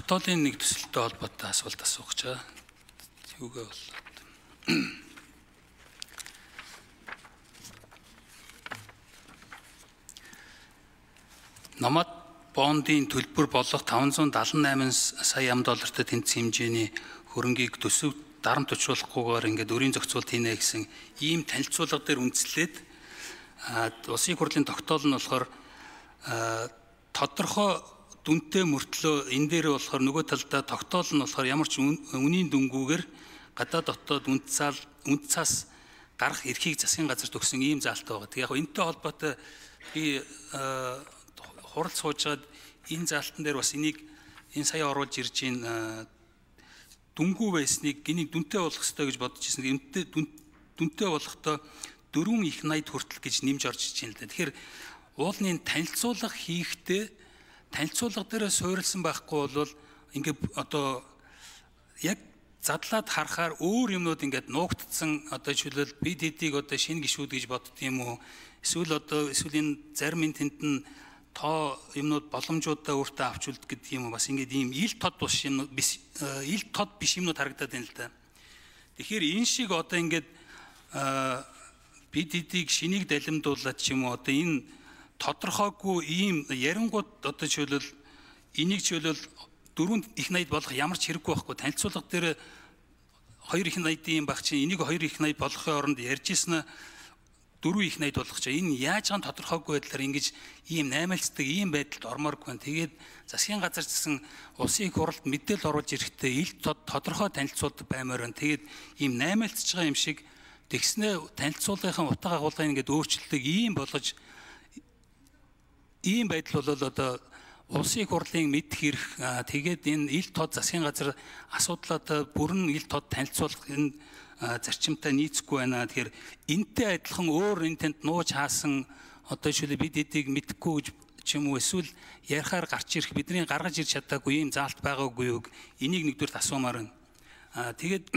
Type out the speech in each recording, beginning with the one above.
тогтоолын нэг төсөлтэй холбоотой асуулт асуух гэж байгаа. Юугаа болоод. Намад бондын төлбөр болох 578 сая $8 тэнцсэн хэмжээний хөрөнгийг төсөв дарамт учруулахгүйгээр ингээд өрийн зохицуулт хийнэ гэсэн ийм танилцуулга дээр үндэслээд улсын хурлын тогтоол нь болохоор тодорхой дүнтэй мөртлөө энэ дээр болохоор нөгөө талдаа тогтоол нь болохоор ямар ч үнийн дүнгүүгээр гадаад дотоод үнд цаас гарах эрхийг засгийн газарт өгсөн ийм заалтай байгаа. Тэгээ яг энэтэй холбоотой би хурал суужгаад энэ заалтан дээр бас энийг энэ сая оруулж ирж ийн дүнгүй байсныг энийг дүнтэй болох ёстой гэж бодож ирсэн. Дүнтэй болохдоо 4 их 80 хүртэл гэж нэмж орж иж байна л да. Тэгэхээр уулын танилцуулга хийхдээ танилцуулга дээр суурилсан байхгүй бол ингээд одоо яг задлаад харахаар өөр юмнууд ингээд нуугдсан одоо жишээлбэл бид хэдийг одоо шинэ гишүүд гэж бодд юм уу? Эсвэл энэ зарим энэ тэнд нь тоо юмнууд боломжуудаа өөртөө авч үлдэх гэдэг юм уу? Бас ингээд ийм ил тод биш юмнууд харагдаад байна л да. Тэгэхээр энэ шиг одоо ингээд бид хэдийг шинийг далимдуулаад ч юм уу одоо энэ тодорхойгүй ийм ярингууд одоо жишээлбэл энийг жишээлбэл 4 их 80 болох ямар ч хэрэггүй байхгүй. Танилцуулга дээр 2 их 80 юм баг чинь энийг 2 их 80 болохын оронд ярьж ирсэн 4 их 80 болох ч энэ яаж ган тодорхойгүй байдлаар ингэж ийм наймаалцдаг ийм байдалд ормооргүй байна. Тэгээд засгийн газар гэсэн улсын их хурлд мэдээлэл оруулж ирэхдээ ил тодорхой танилцуулдаг баймаар байна. Тэгээд ийм наймаалцж байгаа юм шиг тэгснэ танилцуулгын утга агуулгыг ингээд өөрчлөлтөг ийм болгож ийм байдал бол одоо улсын их хурлын мэдэх хэрэг тэгээд энэ ил тод засгийн газар асуудлаа бүрэн ил тод танилцуулах энэ зарчимтай нийцэхгүй байна. Тэгэхээр энтэй адилхан өөр энэ тэнд нууж хаасан одоо жишээлбэл бид эдийг мэдэхгүй гэж ч юм уу эсвэл ярихаар гарч ирэх бидний гаргаж ирж чадаагүй ийм заалт байгаагүй юу? Энийг нэгдүгээр асуумаар байна. Тэгээд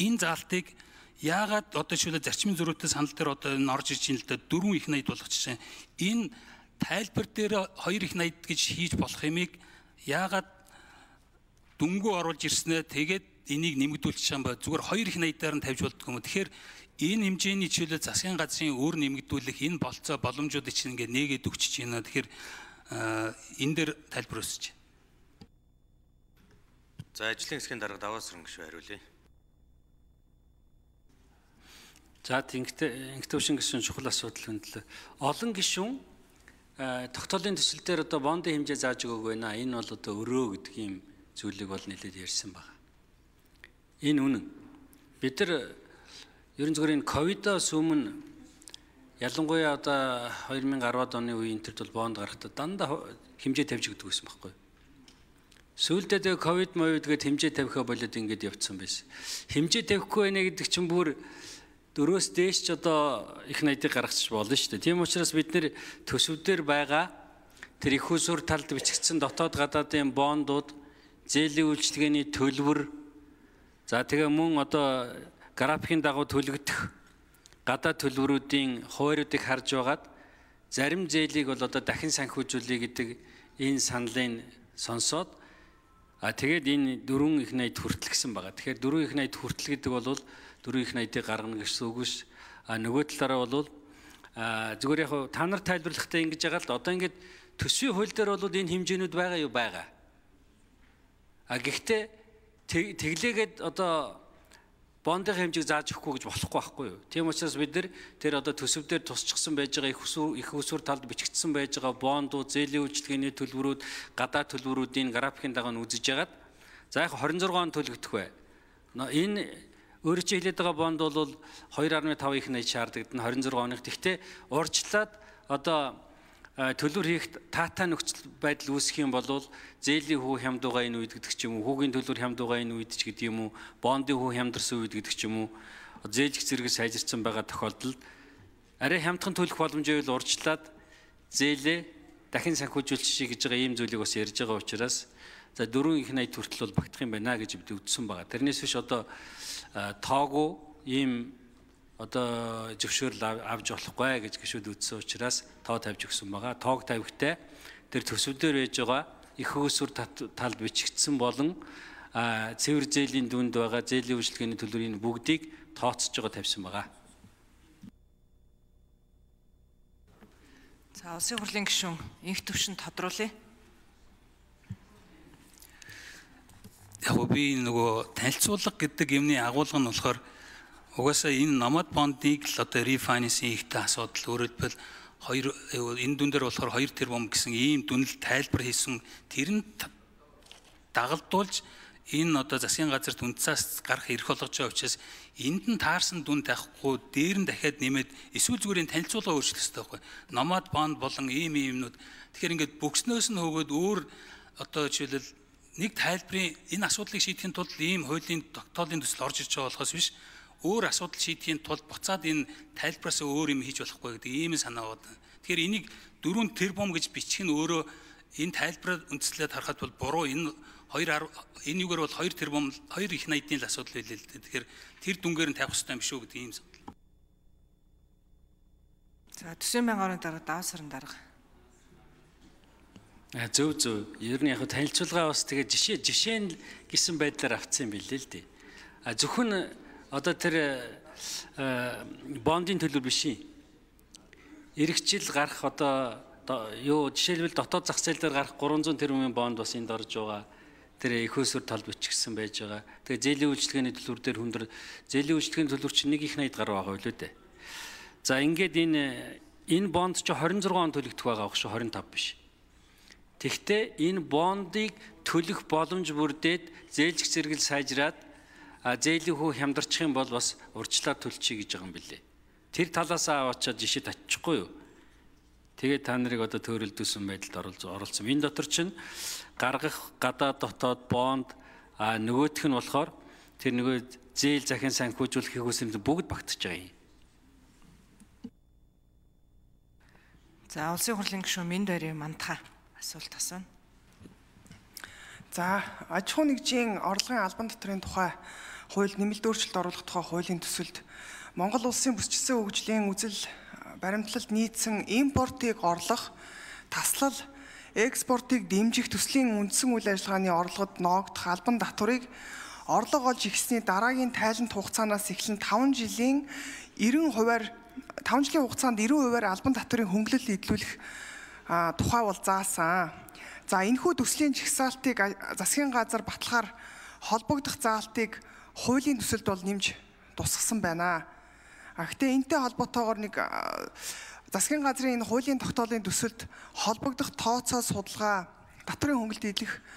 энэ заалтыг яагаад одоо жишээлбэл зарчмын зөрүүтэй санал дээр одоо энэ орж ирж ин л да 4 их 80 болох жишээ. Энэ тайлбар дээр 2 их 80 гэж хийж болох юмыг яагаад дүнгүү оруулж ирснэ тэгээд энийг нэмэгдүүлчих юм ба зүгээр 2 их 80-аар нь тавьж болдгоо юм. Тэгэхээр энэ хэмжээний чиглэл засгийн газрын өөр нэмэгдүүлэх энэ болцоо боломжуудыг чинь ингээд нээгээд өгч байна. Тэгэхээр энэ дээр тайлбар өсөж байна. За ажлын хэсгийн дарга даваас хөрөнгөшөө хариулъя. За инктившн гишүүн чухал асуудал хөндлөө. Олон гишүүн тогтоолын төсөл дээр одоо бондын хэмжээ зааж өгөөг байна. Энэ бол одоо өрөө гэдэг ийм зүйлийг бол нэлээд ярьсан байна. Энэ үнэн. Бид нар ерөн зүгээр энэ ковидоос өмнө ялангуяа одоо 2010-ад оны үеийн төрд бол бонд гарахдаа дандаа хэмжээ тавьж өгдөг байсан байхгүй. Сүүлдээ тэгээ ковид мовидгээд хэмжээ тавихаа болоод ингэж явцсан байсан. Хэмжээ тавихгүй байна гэдэг чинь бүр 4-өөс дээш ч одоо их 80-ыг гаргачих болно шүү дээ. Тийм учраас бид нэр төсөвдөр байгаа тэр их усүр талд бичигдсэн дотоод гадаадын бондууд, зээлийн үйлчилгээний төлбөр, за тэгээ мөн одоо графикийн дагуу төлөгдөх гадаад төлбөрүүдийн хуваарьуудыг харж байгаад зарим зээлийг бол одоо дахин санхүүжүүлэе гэдэг энэ саналыг сонсоод тэгээд энэ 4 их 80 хүртэл гэсэн байгаа. Тэгэхээр 4 их 80 хүртэл гэдэг бол 4 их 80-ыг гаргана гэсэн үг биш. Нөгөө талаараа бол зүгээр яг та нар тайлбарлахдаа ингэж байгаа л да. Одоо ингэж төсвийн хууль дээр бол энэ хэмжээнүүд байгаа юу? Байгаа. Гэхдээ тэглээгээд одоо бондын хэмжээг зааж өгөхгүй гэж болохгүй байхгүй юу? Тийм учраас бид нар тэр одоо төсөв дээр тусчихсан байж байгаа их усүр талд бичигдсэн байж байгаа бондууд, зээлийн үйлчилгээний төлбөрүүд, гадаад төлбөрүүдийн графикийн дагуу нь үзэж яагаад за яг 26 он төлөгдөх бай. Энэ өөрөө чи хэлээд байгаа бонд бол 2.5 их 80 шаардлагад нь 26 оных. Тэгтээ урьдчилаад одоо төлбөр хийх таатай нөхцөл байдал үүсэх юм бол зээлийн хүү хямдуугаа энэ үед гэдэг ч юм уу, хүүгийн төлбөр хямдуугаа энэ үед ч гэдэг юм уу, бондын хүү хямдарсан үед гэдэг ч юм уу, зээлж зэрэг сайжирсан байгаа тохиолдолд арай хямдхан төлөх боломжийг урьдчилаад зээлээ дахин санхүүжүүлчих гэж байгаа ийм зүйлийг бас ярьж байгаа учраас за 4 их 80 хүртэл бол багтах юм байна гэж бид үзсэн байгаа. Тэрнээс биш одоо тоогүй ийм одоо зөвшөөрөл авч болохгүй гэж гişүүд үзсэн учраас тоо тавьж өгсөн байгаа. Тоог тавихтай тэр төсөв дээр байж байгаа их хөөсвөр талд бичигдсэн болон цэвэр зээлийн дүнд байгаа зээлийн үйлчилгээний төлбөрийн бүгдийг тооцож байгаа тавьсан байгаа. За улсын хурлын гишүүн инх төвшөнд тодруулъя. Яг би нөгөө танилцуулга гэдэг юмны агуулга нь болохоор угаасаа энэ номод бондыг л одоо рефайнансинг хийхтэй асуудал өөрөлдвөл энэ дүн дээр болохоор 2 тэрбум гэсэн ийм дүнэл тайлбар хийсэн тэр нь дагалдуулж энэ одоо засгийн газарт үнцаас гарах эрх болгож байгаа учраас энд нь таарсан дүн тавихгүй дээр нь дахиад нэмээд эсвэл зүгээр танилцуулга өөрчлөх хэрэгтэй байхгүй. Номод бонд болон ийм юмнууд тэгэхээр ингээд бүгснөөс нь хөөгөөд өөр одоо жишээлбэл нэг тайлбарын энэ асуудлыг шийдэхин тулд ийм хуулийн тогтоолын төсөл орж ирж байгаа болохоос биш өөр асуудал шийдэхин тулд буцаад энэ тайлбараас өөр юм хийж болохгүй гэдэг ийм санаа байна. Тэгэхээр энийг 4 тэрбум гэж бичих нь өөрөө энэ тайлбараар үндэслээд харахад бол буруу энэ юугаар бол 2 тэрбум 2 их найдны л асуудал байлээ л дээ. Тэгэхээр тэр дүнгээр нь тавих хэрэгтэй юм шүү гэдэг ийм асуудал. За 40,000 орны дараа даваа сарын дараа. Зөв. Ер нь яг танилцуулга бас тэгээ жишээ нь гэсэн байдлаар авцсан юм билээ л дээ. Зөвхөн одоо тэр бондын төлөв биш юм. Ирэх жил гарах одоо жишээлбэл дотоод зах зээл дээр гарах 300 тэрбумын бонд бас энд орж байгаа. Тэр их хөөсвөр талд бичигдсэн байж байгаа. Тэгээ зээлийн үйлчилгээний төлбөр дээр хүндэр зээлийн үйлчилгээний төлбөр чинь 1 их 80 гаруй байгаа билүү дээ. За ингээд энэ бонд чи 26 он төлөгдөх байгаа шүү 25 биш. Тэгвэл энэ бондыг төлөх боломж бүрдээд зээлжих зэрэгэл сайжраад зээлийн хүү хямдарчих юм бол бас урьдчилаад төлчихье гэж байгаа юм билээ. Тэр талаас аваачаад жишээд очихгүй юу? Тэгээд та нарыг одоо төөрөлдүүлсэн байдалд оролцсон. Энэ дотор чинь гаргах гадаад дотоод бонд нөгөөх нь болохоор тэр нөгөө зээл захин санхүүжүүлэх хөөсөнд бүгд багтаж байгаа юм. За улсын хурлын гишүүн Минд Барийн мандахаа асуулт асууна. За аж ахуй нэгжийн орлогын албан татврын тухай хууль нэмэлт өөрчлөлт оруулах тухай хуулийн төсөлд Монгол улсын бүсчилсэн хөгжлийн үзэл баримтлалд нийцсэн импортыг орлох, таслал, экспортыг дэмжих төслийн үндсэн үйл ажиллагааны орлогод ноогдох албан татварыг орлого олж ихсний дараагийн тайлант хугацаанаас эхлэн 5 жилийн хугацаанд 90% албан татврын хөнгөлөлт эдлүүлэх тухай бол заасан. За энэхүү төслийн жагсаалтыг засгийн газар баталгаар холбогдох заалтыг хуулийн төсөлд бол нэмж тусгасан байна. Гэхдээ энэтэй холбоотойгоор нэг засгийн газрын энэ хуулийн тогтоолын төсөлд холбогдох тооцоо судалгаа, татврын хөнгөлөлт эдлэх